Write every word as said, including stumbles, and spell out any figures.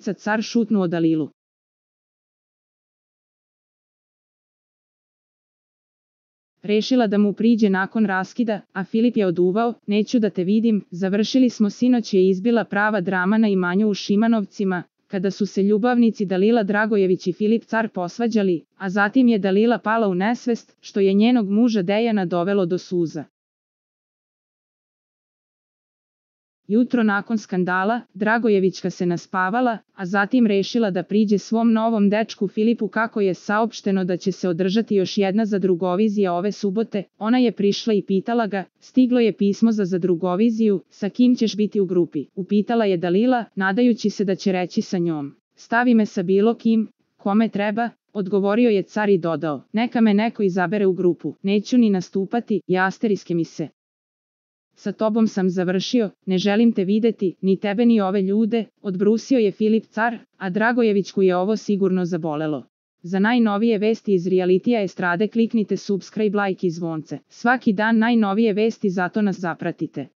Filica car šutnuo Dalilu. Rešila da mu priđe nakon raskida, a Filip je oduvao, neću da te vidim, završili smo sinoć je izbila prava drama na imanju u Šimanovcima, kada su se ljubavnici Dalila Dragojević i Filip car posvađali, a zatim je Dalila pala u nesvest, što je njenog muža Dejana dovelo do suza. Jutro nakon skandala, Dragojevićka se naspavala, a zatim rešila da priđe svom novom dečku Filipu kako je saopšteno da će se održati još jedna zadrugovizija ove subote. Ona je prišla i pitala ga, stiglo je pismo za zadrugoviziju, sa kim ćeš biti u grupi? Upitala je Dalila, nadajući se da će reći sa njom. Stavi me sa bilo kim, kome treba, odgovorio je car i dodao, neka me neko izabere u grupu, neću ni nastupati, jasteriske mi se. Sa tobom sam završio, ne želim te videti, ni tebe ni ove ljude, odbrusio je Filip car, a Dragojevićku je ovo sigurno zabolelo. Za najnovije vesti iz realitija estrade kliknite subscribe, like i zvonce. Svaki dan najnovije vesti, zato nas zapratite.